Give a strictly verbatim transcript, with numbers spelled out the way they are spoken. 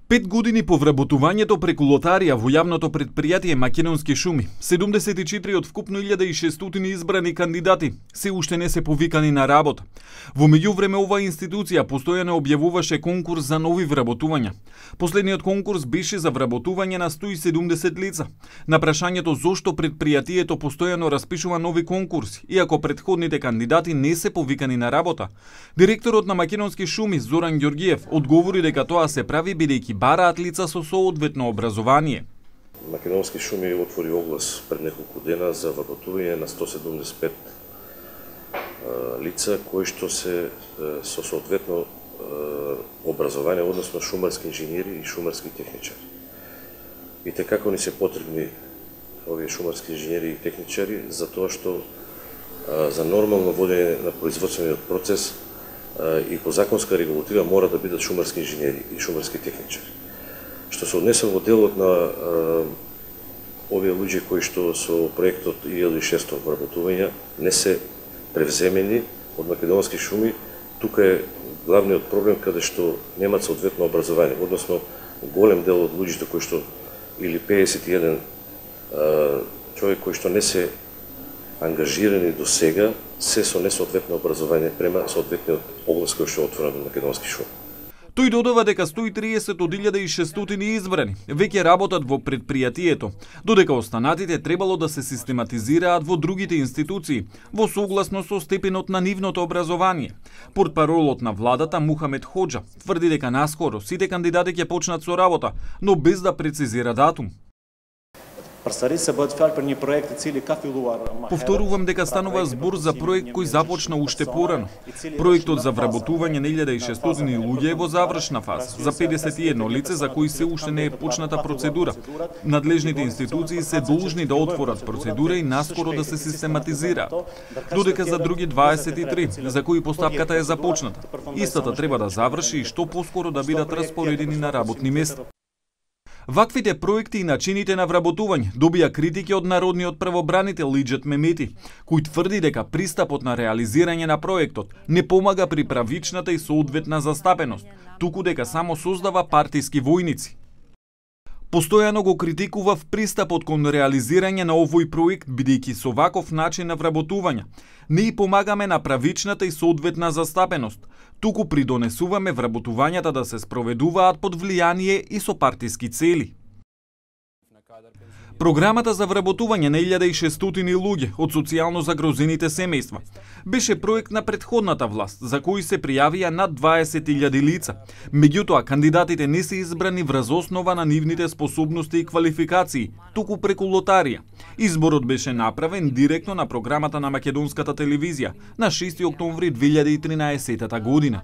Пет години по вработувањето преку лотарија во јавното претпријатие Македонски шуми, седумдесет и четири од вкупно илјада и шестстотини избрани кандидати се уште не се повикани на работа. Во меѓувреме оваа институција постојано објавуваше конкурс за нови вработувања. Последниот конкурс беше за вработување на сто и седумдесет лица. На прашањето зошто претпријатието постојано распишува нови конкурси, иако претходните кандидати не се повикани на работа, директорот на Македонски шуми Зоран Ѓоргиев одговори дека тоа се прави бидејќи бараат лица со соодветно образование. Македонски шуми отвори оглас пред неколку дена за вработување на сто седумдесет и пет лица кои што се со соодветно образование, односно шумарски инженери и шумарски техничари. И те како ни се потребни овие шумарски инженери и техничари за тоа што за нормално водење на производствениот процес и по законска регулатива мора да бидат шумарски инженери и шумарски техничари. Што се однесе во делот на овие луѓе кои што со проектот и илјада и шестстотини вработувања не се превземени од Македонски шуми, тука е главниот проблем каде што немаат соодветно образование, односно голем дел од луѓето кои што или педесет и еден човек кои што не се ангажирани до сега се со несоодветно образование према соодветниот област кој што е отворен во Македонски шуми. Тој додава дека сто и триесет од илјада и шестстотини избрани веќе работат во претпријатието, додека останатите требало да се систематизираат во другите институции, во согласно со степенот на нивното образование. Портпаролот на владата Мухамед Хоџа тврди дека наскоро сите кандидати ќе почнат со работа, но без да прецизира датум. Повторувам дека станува збор за проект кој започна уште порано. Проектот за вработување на илјада и шестстотини луѓе е во завршна фаза, за педесет и едно лице за кои се уште не е почната процедура. Надлежните институции се должни да отворат процедура и наскоро да се систематизираат, додека за други дваесет и три, за кои постапката е започната, истата треба да заврши и што поскоро да бидат распоредени на работни места. Ваквите проекти и начините на вработување добија критики од народниот правобранител Лиџет Мемети, кој тврди дека пристапот на реализирање на проектот не помага при правичната и соодветна застапеност, туку дека само создава партиски војници. Постојано го критикував пристапот кон реализирање на овој проект, бидејќи со ваков начин на вработување не и помагаме на правичната и соодветна застапеност, туку придонесуваме вработувањата да се спроведуваат под влијание и со партиски цели. Програмата за вработување на илјада и шестстотини луѓе од социјално загрозените семејства беше проект на претходната власт, за кој се пријавија над дваесет илјади лица. Меѓутоа, кандидатите не се избрани врз основа на нивните способности и квалификации, туку преку лотарија. Изборот беше направен директно на програмата на Македонската телевизија на шести октомври две илјади и тринаесетта година.